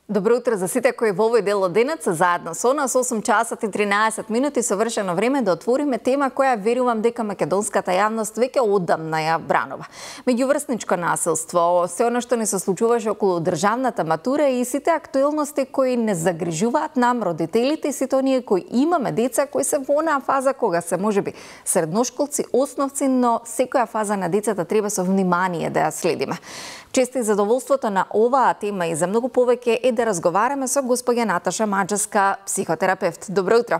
Добро утро за сите кои во овој дел од денот се заедно со нас. 8 часот и 13 минути совршено време да отвориме тема која верувам дека македонската јавност веќе одамна ја бранува. Меѓуврсничко насилство, се она што ни се случуваше околу државната матура и сите актуелности кои не загрижуваат нам родителите и сите оние кои имаме деца кои се во онаа фаза кога се можеби средношколци, основци, но секоја фаза на децата треба со внимание да ја следиме. Често и задоволството на оваа тема и за многу повеќе е да разговараме со госпоѓа Наташа Маџевска, психотерапевт. Добро утро.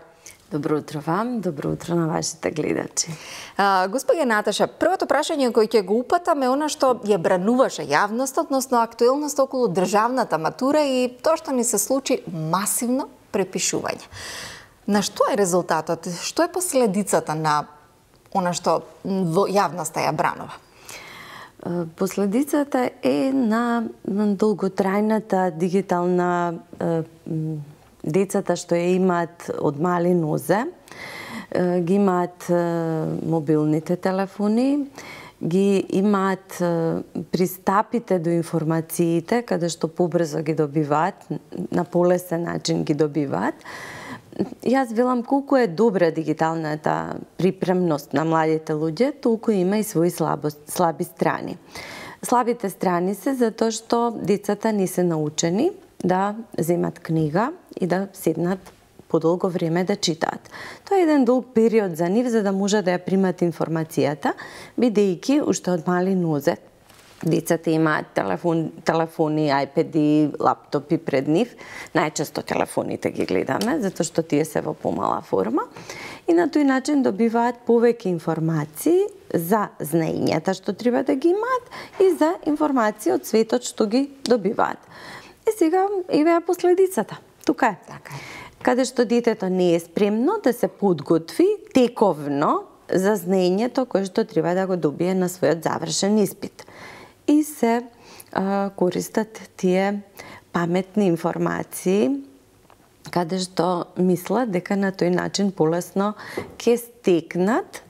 Добро утро вам, добро утро на вашите гледачи. Госпоѓа Наташа, првото прашање кој ќе го упатам е она што ја брануваше јавност, односно актуелност околу државната матура и тоа што ни се случи масивно препишување. На што е резултатот? Што е последицата на она што во јавноста ја бранува? Последицата е на долготрајната дигитална децата што ја имаат од мали нозе, ги имаат мобилните телефони, ги имаат пристапите до информациите, каде што побрзо ги добиваат, на полесен начин ги добиваат. Јас велам колку е добра дигиталната припремност на младите луѓе, толку има и своји слаби страни. Слабите страни се затоа што децата не се научени да земат книга и да седнат подолго време да читаат. Тоа е еден долг период за нив за да може да ја примат информацијата, бидејќи уште од мали нозе децата имаат телефони, айпеди, лаптопи пред нив. Најчесто телефоните ги гледаме, затоа што тие се во помала форма. И на тој начин добиваат повеќе информации за знаењата што треба да ги имаат и за информации од светот што ги добиваат. И сега еве последицата. Тука е. Така е. Каде што детето не е спремно да се подготви тековно за знаењето кое што треба да го добие на својот завршен испит. И се користат тие паметни информации каде што мислат дека на тој начин полесно ќе стекнат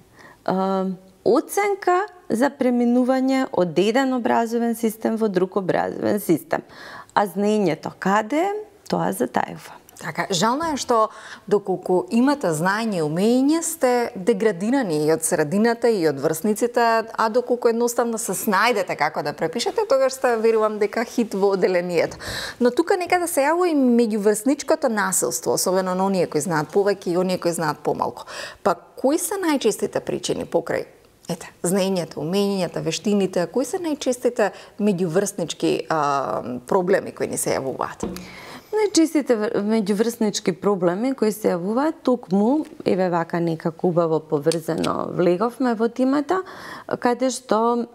оценка за преминување од еден образовен систем во друг образовен систем. А знаењето каде е, тоа затајува. Така, жално е што доколку имате знаење и умење сте деградирани и од средината и од врсниците, а доколку едноставно се снајдете како да препишете, тогаш сте верувам дека хит во оделението. Но тука некаде се јавува и меѓуврсничкото насилство, особено на оние кои знаат повеќе и оние кои знаат помалку. Па кои се најчестите причини покрај знаењето, умењата, вештините, кои се најчестите меѓуврснички проблеми кои ни се јавуваат? Најчестите меѓуврснички проблеми кои се јавуваат токму, еве вака некако убаво поврзано влеговме во темата, каде што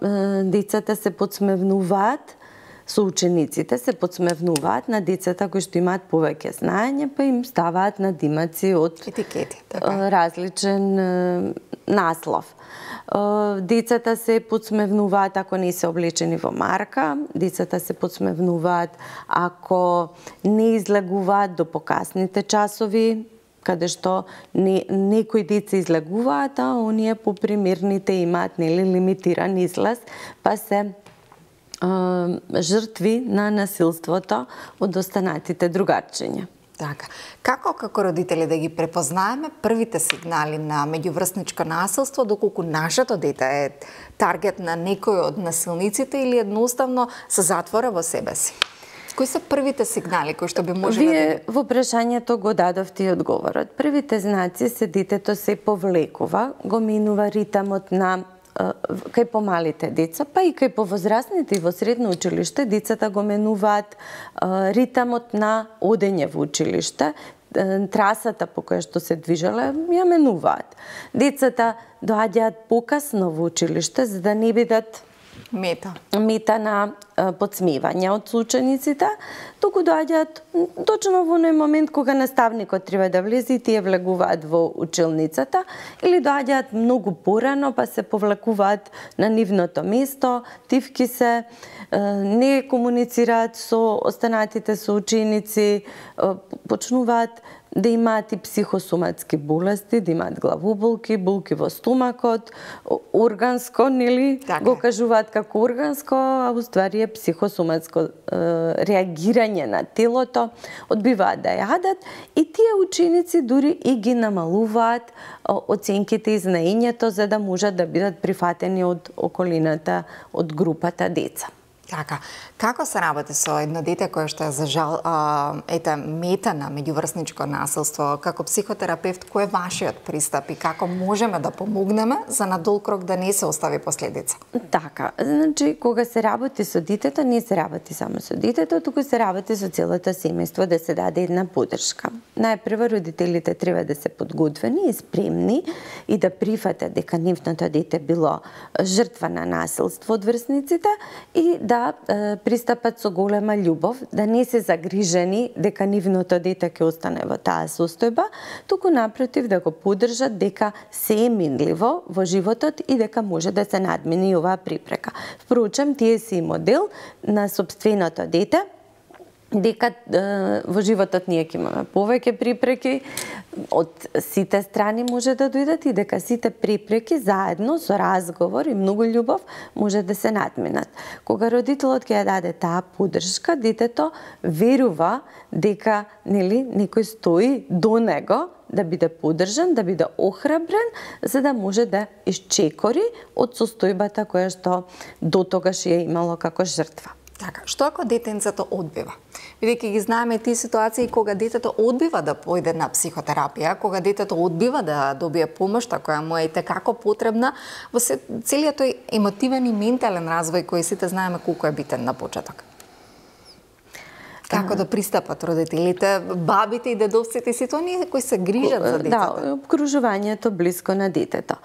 децата се подсмевнуваат, со учениците се подсмевнуваат на децата кои што имаат повеќе знаење, па им ставаат надимаци од етикети, така. Различен наслов. Децата се подсмевнуваат ако не се облечени во марка, децата се подсмевнуваат ако не излегуваат до покасните часови, каде што некои деца излегуваат, а оние попримерните имаат лимитиран излез, па се жртви на насилството од останатите другарчиња. Така. Како родители да ги препознаеме првите сигнали на меѓуврсничко насилство, доколку нашето дете е таргет на некој од насилниците или едноставно се затвора во себе си? Кои се првите сигнали кои што би можеле да... Вие во прашањето го дадовте и одговорот. Првите знаци се детето се повлекува, го минува ритамот на кај помалите деца, па и кај повозрасните и во средно училиште, децата го менуваат ритамот на одење во училиште, трасата по која што се движеле, ја менуваат. Децата доаѓаат покасно во училиште, за да не бидат мета на подсмевање од учениците, туку доаѓаат точно во оној момент кога наставникот треба да влезе и тие влегуваат во училницата, или доаѓаат многу порано па се повлекуваат на нивното место, тивки се, не комуницираат со останатите соученици, почнуваат да имаат и психосоматски болести, да имаат главоболки, болки во стомакот, органско, нели, го кажуваат како органско, а уствари е психосоматско реагирање на телото, одбиваат да јадат и тие ученици дури и ги намалуваат оценките и знаењето за да можат да бидат прифатени од околината, од групата деца. Така, како се работи со едно дете кое што е за жал мета на меѓуврсничко насилство? Како психотерапевт, кој е вашиот пристап и како можеме да помогнеме за на долг рок да не се остави последица? Така, значи кога се работи со детето, не се работи само со детето, туку се работи со целото семејство да се даде една поддршка. Најпрво родителите треба да се подготвени и спремни и да прифатат дека нивното дете било жртва на насилство од врсниците и да пристапат со голема љубов, да не се загрижени дека нивното дете ќе остане во таа состојба, туку напротив да го поддржат дека се е минливо во животот и дека може да се надмини оваа препрека. Впрочем, тие си модел на сопственото дете, дека во животот ние ќе имаме повеќе препреки, од сите страни може да дојдат и дека сите препреки заедно со разговор и многу љубов може да се надминат. Кога родителот ќе ја даде таа поддршка, детето верува дека некој стои до него да биде поддржан, да биде охрабрен, за да може да исчекори од состојбата која што до тогаш ја имало како жртва. Така, што ако детенцето одбива? Бидејќи ги знаеме тие ситуации кога детето одбива да појде на психотерапија, кога детето одбива да добие помошта која му е како потребна во целиот тој емотивен и ментален развој кој сите знаеме колку е битен на почеток. Како да пристапат родителите, бабите и дедовците, сите оние кои се грижат за детето? Да, обкружувањето близко на детето.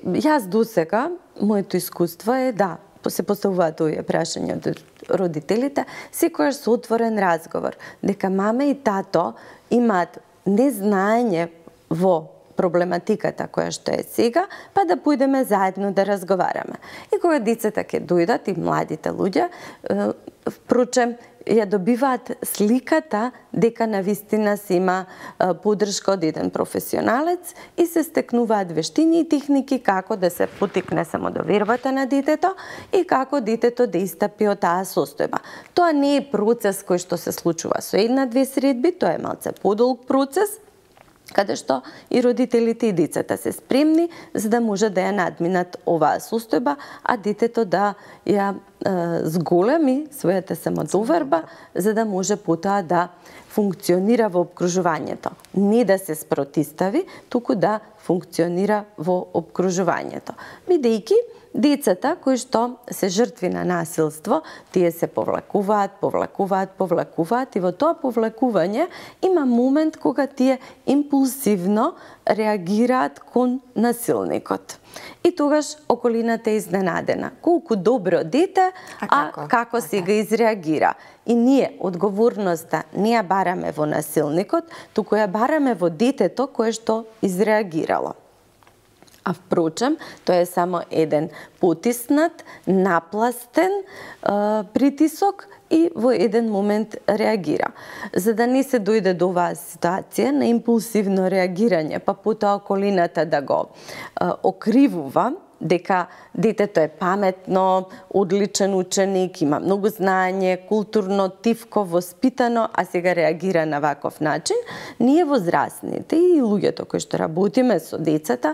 Јас досега, моето искуство е да се поставуваат овие прашања од родителите, секогаш со отворен разговор, дека мама и тато имаат незнаење во проблематиката која што е сега, па да појдеме заедно да разговараме. И кога децата ќе дојдат и младите луѓе, впрочем, ја добиваат сликата дека навистина се има поддршка од еден професионалец и се стекнуваат вештини и техники како да се потикне самодовербата на детето и како детето да истапи од таа состојба. Тоа не е процес кој што се случува со една-две средби, тоа е малце подолг процес, каде што и родителите и децата се спремни за да може да ја надминат оваа состојба, а детето да ја зголеми својата самодоверба за да може потоа да функционира во обкружувањето. Не да се спротистави, туку да функционира во обкружувањето. Бидејќи децата кои што се жртви на насилство, тие се повлекуваат и во тоа повлекување има момент кога тие импулсивно реагираат кон насилникот. И тогаш околината е изненадена. Колку добро дете, а како сега изреагира. И ние одговорноста не ја бараме во насилникот, туку ја бараме во детето кое што изреагирало. А впрочем, тоа е само еден потиснат, напластен притисок и во еден момент реагира. За да не се дојде до оваа ситуација на импулсивно реагирање, па потоа околината да го окривува, дека детето е паметно, одличен ученик, има многу знаење, културно, тивко, воспитано, а сега реагира на ваков начин, ние возрастните и луѓето кои што работиме со децата,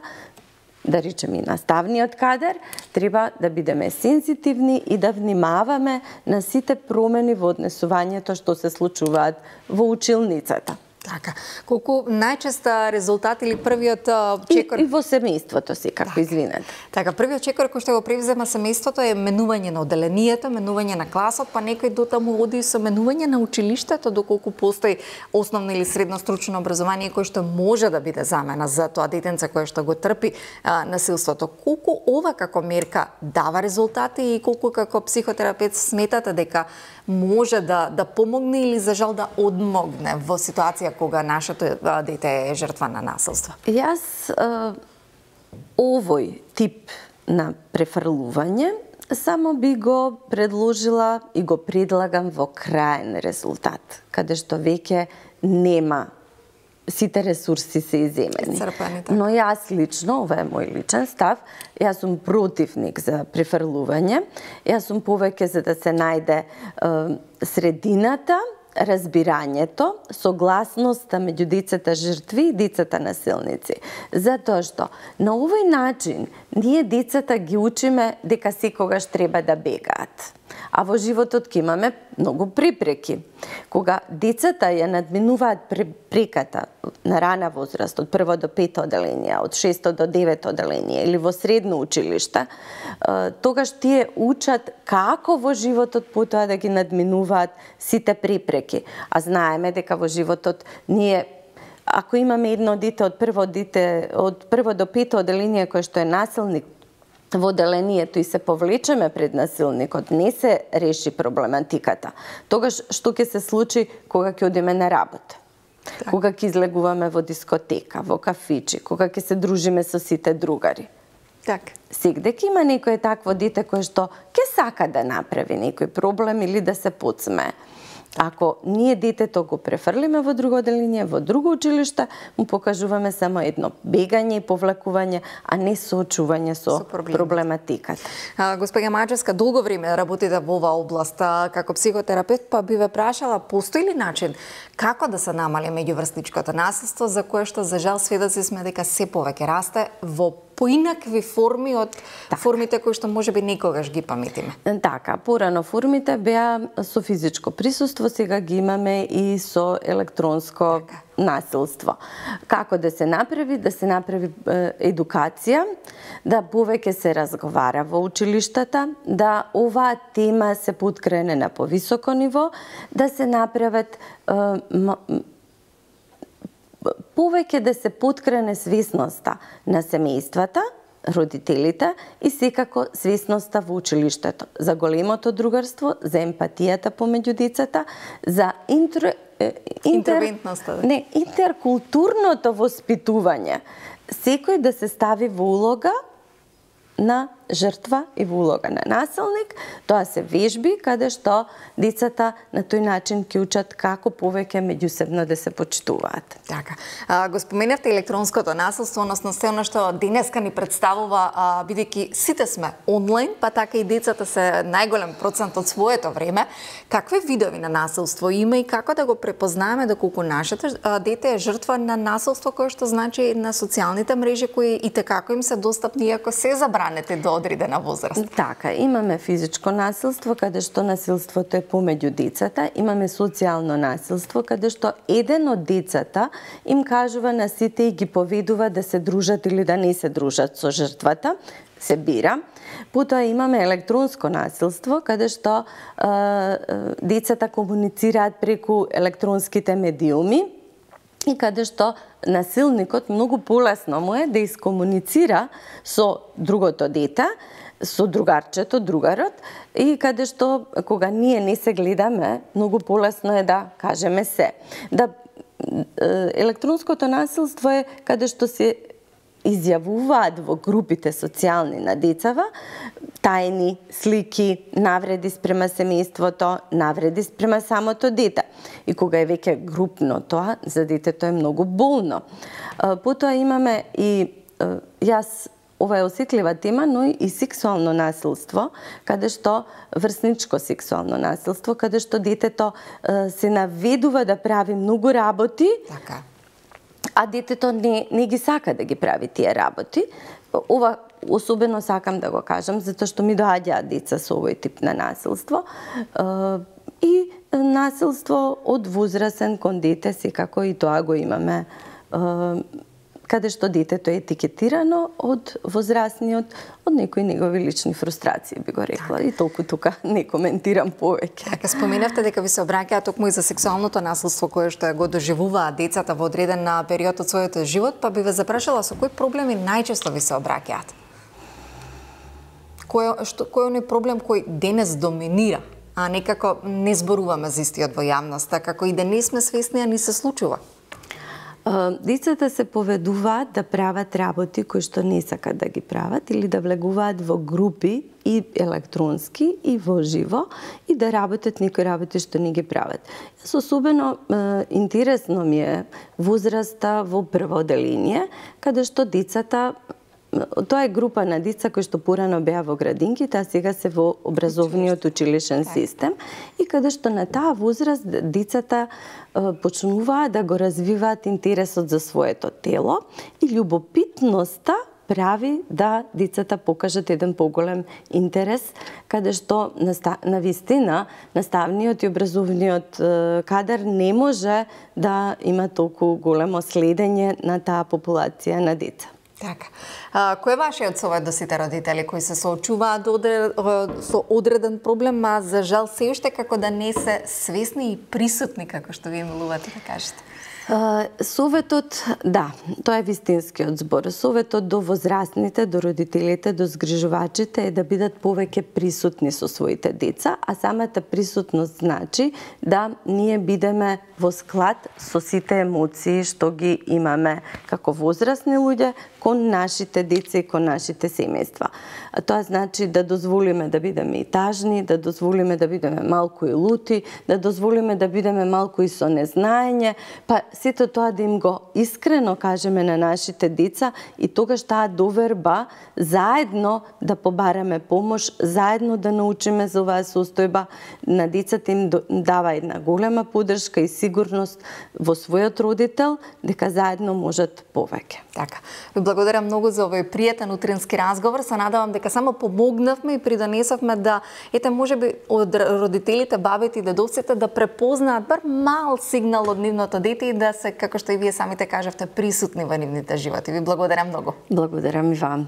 да речеме и наставниот кадар, треба да бидеме сензитивни и да внимаваме на сите промени во однесувањето што се случуваат во училницата. Така, колку најчеста резултат или првиот чекор... И во семејството си, како извинете. Така, првиот чекор кој што го превзема семејството е менување на оделението, менување на класот, па некој дотаму оди со менување на училиштето, доколку постои основно или средно стручно образование кој што може да биде замена за тоа детенце кое што го трпи насилството. Колку ова како мерка дава резултати и колку како психотерапевт сметате дека може да помогне или за жал да одмогне во ситуација кога нашето дете е жртва на насилство? Јас овој тип на префрлување само би го предложила и го предлагам во краен резултат, каде што веќе нема, сите ресурси се иземени. Но јас лично, ова е мој личен став, јас сум противник за префрлување. Јас сум повеќе за да се најде средината, разбирањето, согласноста меѓу децата жртви и децата насилници. Затоа што на овој начин ние децата ги учиме дека секогаш треба да бегаат. А во животот ќе имаме многу препреки. Кога децата ја надминуваат препреката на рана возраст, од 1 до 5 оделение, од 6 до 9 оделение или во средно училиште, тогаш тие учат како во животот потоа да ги надминуваат сите препреки. А знаеме дека во животот ние, ако имаме едно дете од прво до 5 оделение кој што е насилник во оделението и се повлечеме пред насилникот, не се реши проблематиката. Тогаш што ќе се случи кога ќе одиме на работа? Кога ќе излегуваме во дискотека, во кафичи, кога ќе се дружиме со сите другари? Сегде ќе има некој такво дете кое што ќе сака да направи некој проблем или да се подсмее. Ако ние детето го префрлиме во друго оделение, во друго училиште, му покажуваме само едно бегање и повлекување, а не соочување со проблематиката. Господја Маџевска, долго време работите во оваа област како психотерапевт, па би ве прашала, постои ли начин како да се намали меѓуврсничкото насилство, за кое што за жал сведоци сме дека се повеќе расте во поинакви форми од формите кои што можеби никогаш ги паметиме? Така, порано формите беа со физичко присуство, сега ги имаме и со електронско насилство. Како да се направи? Да се направи едукација, да повеќе се разговара во училиштата, да оваа тема се поткрене на повисоко ниво, да се направат повеќе да се поткрене свесноста на семејствата, родителите и секако свесноста во училиштето, за големото другарство, за емпатијата помеѓу децата, за интеркултурното воспитување. Секој да се стави во улога на жртва и во улога на насилник. Тоа се вежби каде што децата на тој начин ќе учат како повеќе меѓусебно да се почитуваат. Така. Го споменавте електронското насилство, односно се она што денеска ни представува, бидејќи сите сме онлайн, па така и децата се најголем процент од своето време. Какви видови на насилство има и како да го препознаеме доколку нашето дете е жртва на насилство кое што значи на социјалните мрежи кои и како им се достапни иако се забранети до одредена возраст? Така, имаме физичко насилство каде што насилството е помеѓу децата, имаме социјално насилство каде што еден од децата им кажува на сите и ги поведува да се дружат или да не се дружат со жртвата, се бира. Потоа имаме електронско насилство каде што децата комуницираат преку електронските медиуми и каде што насилникот многу полесно му е да искомуницира со другото дете, со другарчето, другарот, и каде што кога ние не се гледаме, многу полесно е да кажеме се. Електронското насилство е каде што се изјавуваат во групите социјални на децава тајни слики, навреди спрема семејството, навреди спрема самото дете. И кога е веќе групно тоа, за детето е многу болно. Потоа имаме и ова е осетлива тема, но и сексуално насилство, каде што врсничко сексуално насилство, каде што детето се наведува да прави многу работи, а детето не ги сака да ги прави тие работи. Ова особено сакам да го кажам, затоа што ми доаѓаат деца со овој тип на насилство. И насилство од возрасен кон дете, секако и тоа го имаме, каде што детето е етикетирано од возрастниот, од некои негови лични фрустрации, би го рекла. И толку тука не коментирам повеќе. Така, споменавте дека ви се обраќаат токму и за сексуалното насилство кое што го доживуваат децата во одреден период од својот живот, па би ве запрашала со кои проблеми најчесто ви се обраќаат? Кој е оној проблем кој денес доминира, а некако не зборуваме за истиот во јавноста, како и да не сме свесни, а ни се случува? Децата се поведуваат да прават работи кои што не сакат да ги прават или да влегуваат во групи и електронски и во живо и да работат некои работи што не ги прават. Особено интересно ми е возраста во прво оделение, каде што децата, тоа е група на деца кои што порано беа во градинките, а сега се во образовниот училишен систем и каде што на таа возраст децата почнуваат да го развиваат интересот за своето тело и љубопитноста прави да децата покажат еден поголем интерес, каде што навистина наставниот и образовниот кадар не може да има толку големо следење на таа популација на деца. Така. Кој е вашиот совет до сите родители кои се соочуваат со одреден проблем, а за жал се уште како да не се свесни и присутни, како што вие милувате да кажете? Советот, да, тоа е вистинскиот збор. Советот до возрастните, до родителите, до згрижувачите е да бидат повеќе присутни со своите деца, а самата присутност значи да ние бидеме во склад со сите емоции што ги имаме како возрастни луѓе кон нашите деца и кон нашите семејства. Тоа значи да дозволиме да бидеме и тажни, да дозволиме да бидеме малку и лути, да дозволиме да бидеме малку и со незнаење, па сето тоа да им го искрено кажеме на нашите деца и тогаш таа доверба заедно да побараме помош, заедно да научиме за оваа состојба, на децата им дава една голема поддршка и сигурност во својот родител дека заедно можат повеќе. Така. Ви благодарам многу за овој пријатен утрински разговор. Се надевам дека само помогнавме и придонесовме да можеби од родителите, бабите и дедовците да препознаат бар мал сигнал од нивното дете и да се, како што и вие самите кажавте, присутни во нивните животи. Ви благодарам многу. Благодарам и вам.